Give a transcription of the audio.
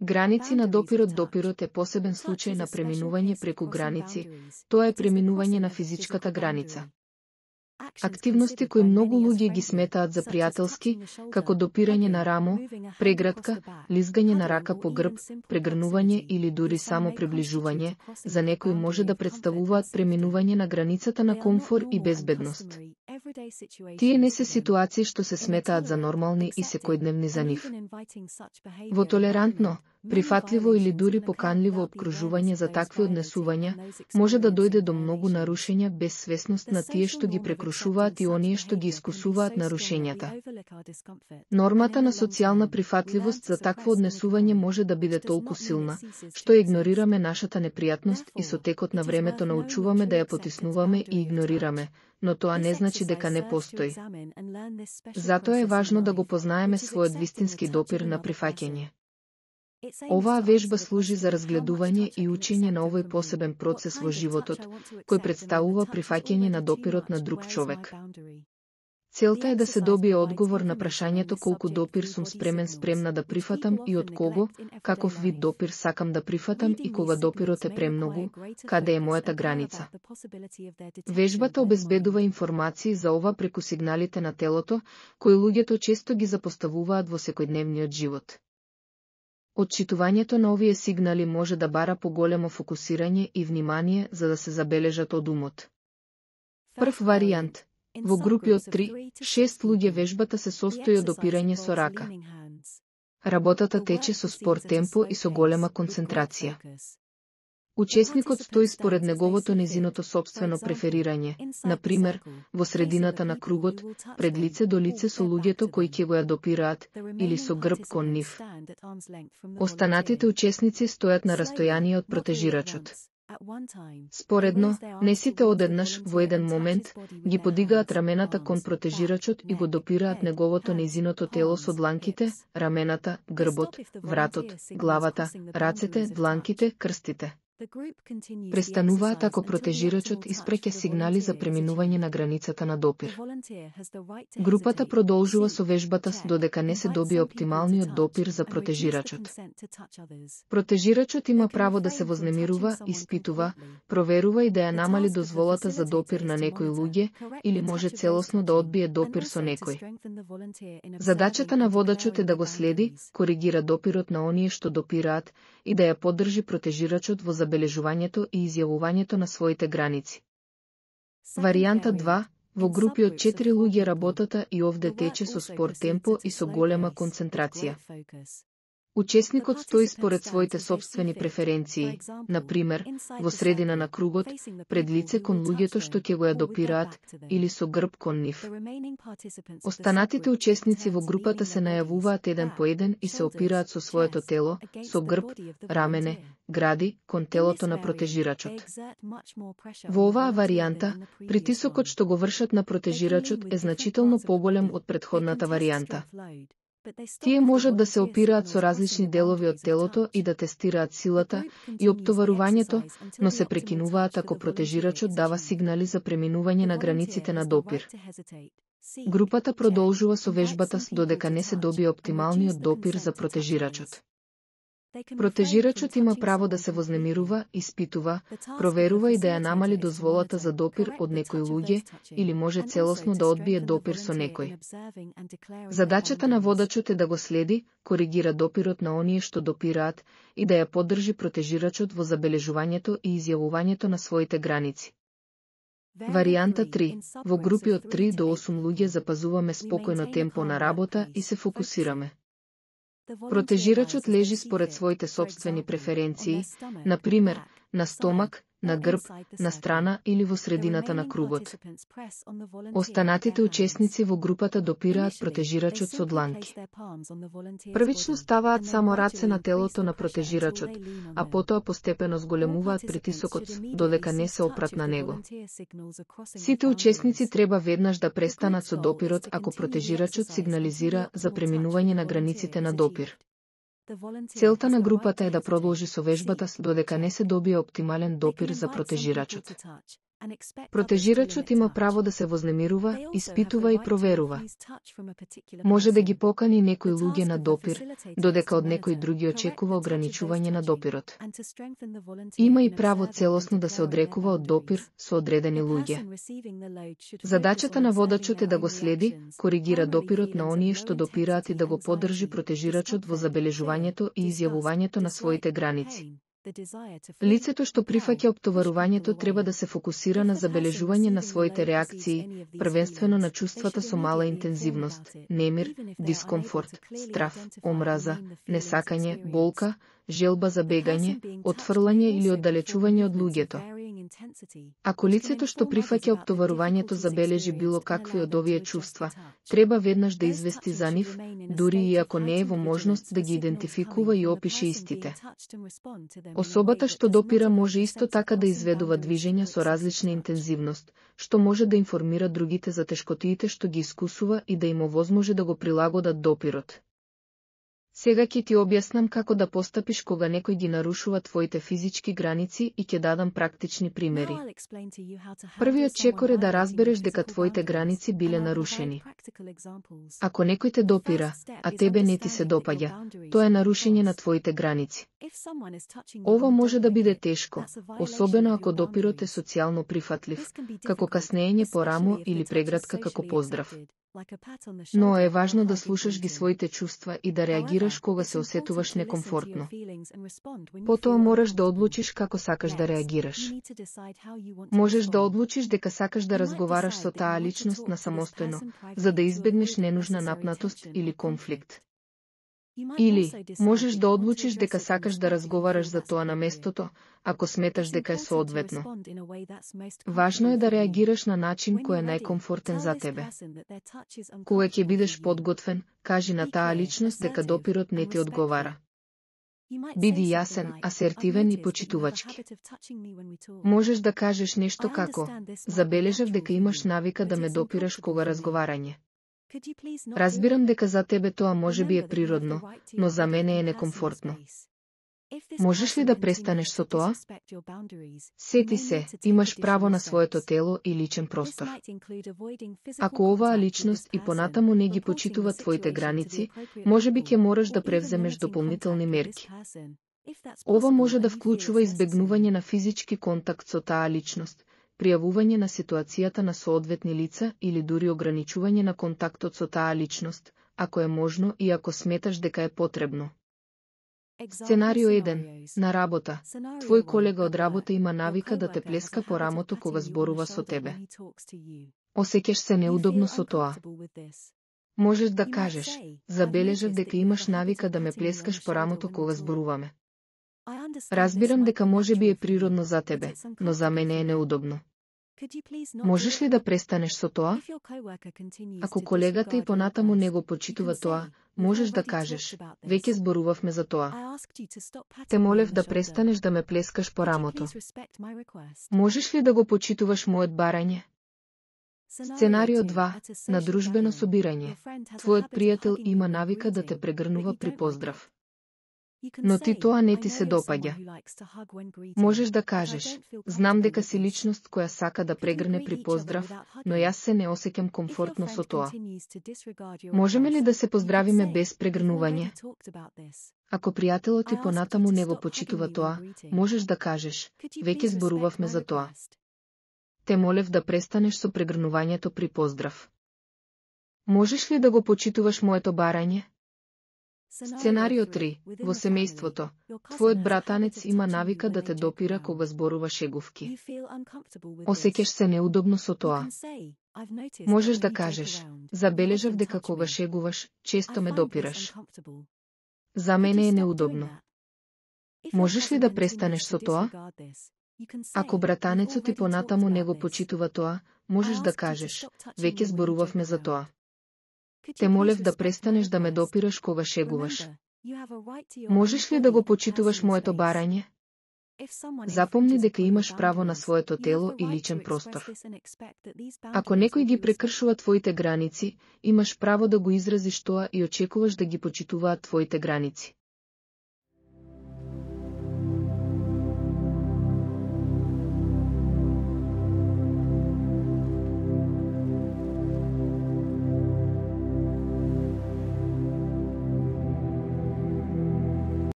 Граници на допирот. Допирот е посебен случај на преминување преку граници, тоа е преминување на физичката граница. Активности кои многу луѓе ги сметаат за пријателски, како допирање на рамо, прегратка, лизгање на рака по грб, прегрнување или дури само приближување, за некои може да представуваат преминување на границата на комфор и безбедност. Тие не се ситуации што се сметаат за нормални и секојдневни за нив. Во толерантно, прифатливо или дури поканливо опкружување за такви однесувања, може да дојде до многу нарушења без свесност на тие што ги прекрушуваат и оние што ги искусуваат нарушењата. Нормата на социјална прифатливост за такво однесување може да биде толку силна, што игнорираме нашата непријатност и со текот на времето научуваме да ја потиснуваме и игнорираме, но тоа не значи дека не постои. Затоа е важно да го познаеме својот вистински допир на прифаќање. Оваа вежба служи за разгледување и учење на овој посебен процес во животот, кој представува прифаќање на допирот на друг човек. Целта е да се добие одговор на прашањето колку допир сум спремна да прифатам и од кого, каков вид допир сакам да прифатам и кога допирот е премногу, каде е мојата граница. Вежбата обезбедува информации за ова преку сигналите на телото, кои луѓето често ги запоставуваат во секојдневниот живот. Отчитувањето на овие сигнали може да бара поголемо фокусирање и внимание за да се забележат од умот. Прв варијант. Во групи од 3-6 луѓе вежбата се состои од допирање со рака. Работата тече со спор темпо и со голема концентрација. Учесникот стои според неговото незиното сопствено преферирање, например, во средината на кругот, пред лице до лице со луѓето кои ќе го ја допираат, или со грб кон нив. Останатите учесници стојат на растојание од протежирачот. Споредно, не сите одеднаш, во еден момент, ги подигаат рамената кон протежирачот и го допираат неговото незиното тело со дланките, рамената, грбот, вратот, главата, рацете, дланките, крстите. Престануваат ако протежирачот испраќа сигнали за преминување на границата на допир. Групата продолжува со вежбата додека не се добие оптималниот допир за протежирачот. Протежирачот има право да се вознемирува, испитува, проверува и да ја намали дозволата за допир на некои луѓе или може целосно да одбие допир со некој. Задачата на водачот е да го следи, коригира допирот на оние што допираат и да ја поддржи протежирачот во забележувањето и изјавувањето на своите граници. Варијанта 2. Во групи од 4 луѓе работата и овде тече со спор темпо и со голема концентрација. Учесникот стои според своите сопствени преференции, например, во средина на кругот, пред лице кон луѓето што ќе го ја допираат, или со грб кон нив. Останатите учесници во групата се најавуваат еден по еден и се опираат со своето тело, со грб, рамене, гради, кон телото на протежирачот. Во оваа варијанта, притисокот што го вршат на протежирачот е значително поголем од претходната варијанта. Тие можат да се опираат со различни делови од телото и да тестираат силата и оптоварувањето, но се прекинуваат ако протежирачот дава сигнали за преминување на границите на допир. Групата продолжува со вежбата додека не се добие оптималниот допир за протежирачот. Протежирачот има право да се вознемирува, испитува, проверува и да ја намали дозволата за допир од некои луѓе или може целосно да одбие допир со некој. Задачата на водачот е да го следи, коригира допирот на оние што допираат и да ја поддржи протежирачот во забележувањето и изјавувањето на своите граници. Варијанта 3. Во групи од 3 до 8 луѓе запазуваме спокојно темпо на работа и се фокусираме. Протежирачот лежи според своите сопствени преференции, например, на стомак, на грб, на страна или во средината на кругот. Останатите учесници во групата допираат протежирачот со дланки. Првично ставаат само раце на телото на протежирачот, а потоа постепено зголемуваат притисокот, додека не се опрат на него. Сите учесници треба веднаш да престанат со допирот ако протежирачот сигнализира за преминување на границите на допир. Целта на групата е да продолжи со вежбата додека не се добие оптимален допир за протежирачот. Протежирачот има право да се вознемирува, испитува и проверува. Може да ги покани некои луѓе на допир, додека од некои други очекува ограничување на допирот. Има и право целосно да се одрекува од допир со одредени луѓе. Задачата на водачот е да го следи, коригира допирот на оние што допираат и да го поддржи протежирачот во забележувањето и изјавувањето на своите граници. Лицето што прифаќа оптоварувањето треба да се фокусира на забележување на своите реакции, првенствено на чувствата со мала интензивност, немир, дискомфорт, страф, омраза, несакање, болка, желба за бегање, отфрлање или оддалечување од луѓето. Ако лицето што прифаќа оптоварувањето забележи било какви од овие чувства, треба веднаш да извести за нив, дури и ако не е во можност да ги идентификува и опише истите. Особата што допира може исто така да изведува движења со различна интензивност, што може да информира другите за тешкотиите што ги искусува и да им овозможи да го прилагодат допирот. Сега ќе ти објаснам како да постапиш кога некој ги нарушува твоите физички граници и ќе дадам практични примери. Првиот чекор е да разбереш дека твоите граници биле нарушени. Ако некој те допира, а тебе не ти се допаѓа, тоа е нарушење на твоите граници. Ова може да биде тешко, особено ако допирот е социјално прифатлив, како каснење по рамо или прегратка како поздрав. Но е важно да слушаш ги своите чувства и да реагираш кога се осетуваш некомфортно. Потоа мораш да одлучиш како сакаш да реагираш. Можеш да одлучиш дека сакаш да разговараш со таа личност на самостојно, за да избегнеш ненужна напнатост или конфликт. Или, можеш да одлучиш дека сакаш да разговараш за тоа на местото, ако сметаш дека е соодветно. Важно е да реагираш на начин кој е најкомфортен за тебе. Кога ќе бидеш подготвен, кажи на таа личност дека допирот не ти одговара. Биди јасен, асертивен и почитувачки. Можеш да кажеш нешто како: забележав дека имаш навика да ме допираш кога разговарање. Разбирам дека за тебе тоа може би е природно, но за мене е некомфортно. Можеш ли да престанеш со тоа? Сети се, имаш право на своето тело и личен простор. Ако оваа личност и понатаму не ги почитува твоите граници, можеби ќе мораш да превземеш дополнителни мерки. Ова може да вклучува избегнување на физички контакт со таа личност, пријавување на ситуацијата на соодветни лица или дури ограничување на контактот со таа личност, ако е можно и ако сметаш дека е потребно. Сценарио 1. На работа. Твој колега од работа има навика да те плеска по рамото кога зборува со тебе. Осеќаш се неудобно со тоа. Можеш да кажеш: забележав дека имаш навика да ме плескаш по рамото кога зборуваме. Разбирам дека може би е природно за тебе, но за мене е неудобно. Можеш ли да престанеш со тоа? Ако колегата и понатаму не го почитува тоа, можеш да кажеш: веќе зборувавме за тоа. Те молев да престанеш да ме плескаш по рамото. Можеш ли да го почитуваш мојот барање? Сценарио 2. На дружбено собирање. Твојот пријател има навика да те прегрнува при поздрав. Но ти тоа не ти се допаѓа. Можеш да кажеш: знам дека си личност која сака да прегрне при поздрав, но јас се не осеќам комфортно со тоа. Можеме ли да се поздравиме без прегрнување? Ако пријателот ти понатаму не го почитува тоа, можеш да кажеш: веќе зборувавме за тоа. Те молев да престанеш со прегрнувањето при поздрав. Можеш ли да го почитуваш моето барање? Сценарио 3. Во семејството. Твојот братанец има навика да те допира кога зборува шегувки. Осеќаш се неудобно со тоа. Можеш да кажеш: забележав дека кога шегуваш, често ме допираш. За мене е неудобно. Можеш ли да престанеш со тоа? Ако братанецот ти понатаму не го почитува тоа, можеш да кажеш: веќе зборувавме за тоа. Те молев да престанеш да ме допираш кога шегуваш. Можеш ли да го почитуваш моето барање? Запомни дека имаш право на своето тело и личен простор. Ако некој ги прекршува твоите граници, имаш право да го изразиш тоа и очекуваш да ги почитуваат твоите граници.